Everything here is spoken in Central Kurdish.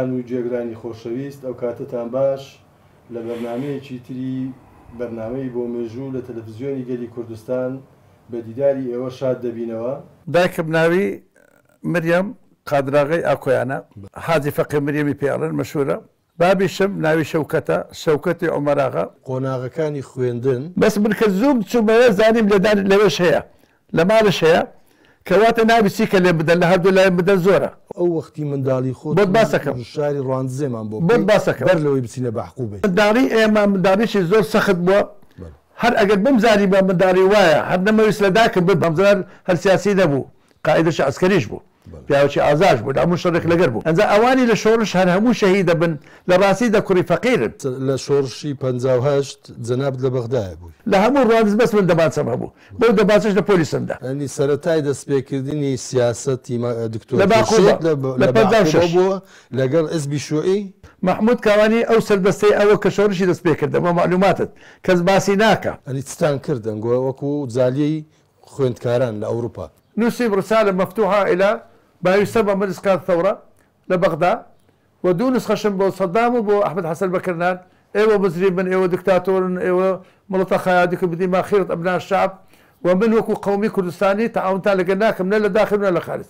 بینەران و گوێگرانی خۆشەویست ئەو کاتەتان باش، لە بەرنامەیەکی تری بەرنامەی بۆ مێژوو لە تەلەفزیۆنی گەلی کوردستان بە دیداری ئێوە شاد دەبینەوە. دایکم ناوی مریەم قادراغەی ئاکۆیانە، حاجی فەقێ مریەمی پێ ئەڵێن، مەشهوورە. بابیشم ناوی شەوکەتە، شەوکەتی عومەراغا. قۆناغەکانی خوێندن. بەس من کە زووم چوومەوێ زانیم لێدان لەوێش هەیە لە ماڵش هەیە کەواتە نابی چی کە لێم بدەن لە هەردوو لایم بدەن زۆرە. ئەو وەختی منداڵی خۆت بۆت باسەکەم. و شاری ڕواندزێمان بۆ بۆت بکەی باسەکەم. بەر لەوەی بچینە بەعقوبەی. منداڵی ئێمە منداڵیی زۆر سەخت بووە بەڵێ. هەر ئەگەر بمزانیبا منداڵی وایە هەر نەمەویست لە داکم ببم زەرار هەر سیاسی نەبوو قائیدەکی عەسکەریش بوو. بەڵێ. پیاوەکی ئازاش بوو لە هەموو شەڕێک لەگەر بوو ئەنجا ئەوانی لە شۆڕش هەر هەموو شەهیدەبن لە ڕاستی دە کوڕی فەقیرن. لە شۆڕشی 58 جەنابت لە بەغدایە بووی. لە هەموو ڕواندز بەس من دەمانچەم هەبوو بەو دەمانچەش لە پۆلیسم دا. یانی سەرەتای دەستپێکردنی سیاسەتی دکتۆر لە باقوبە خورشید لە لە لە پەنجا و بەعقوبە شەش. بووە لەگەڵ حزبی شوعی؟ مەحمود کاوانی ئەو سەردەستەی ئەوە کە شۆڕشی دەست پێکردە بۆ مەعلوماتت کەس باسی ناکا. یانی چتان کرد ئەنگۆ وەکوو جالیەی خوێندکاران لە ئەوروپا؟ نوسیم رسالە مفتوحە الی ما یسمى مجلس قیادە الثورە لە بەغدا و دوو نوسخەشم بۆ سەدام و بۆ ئەحمەد حەسەن بەکر نارد، ئێوە مجریمن، ئێوە دکتاتۆرن، ئێوە مڵەتە خایادکم بدی ما خیرة ابناء الشعب و من وەکو قەومی کوردستانی تەعاونتان لەگەل ناکەم نە لە داخل و نە لە خارج.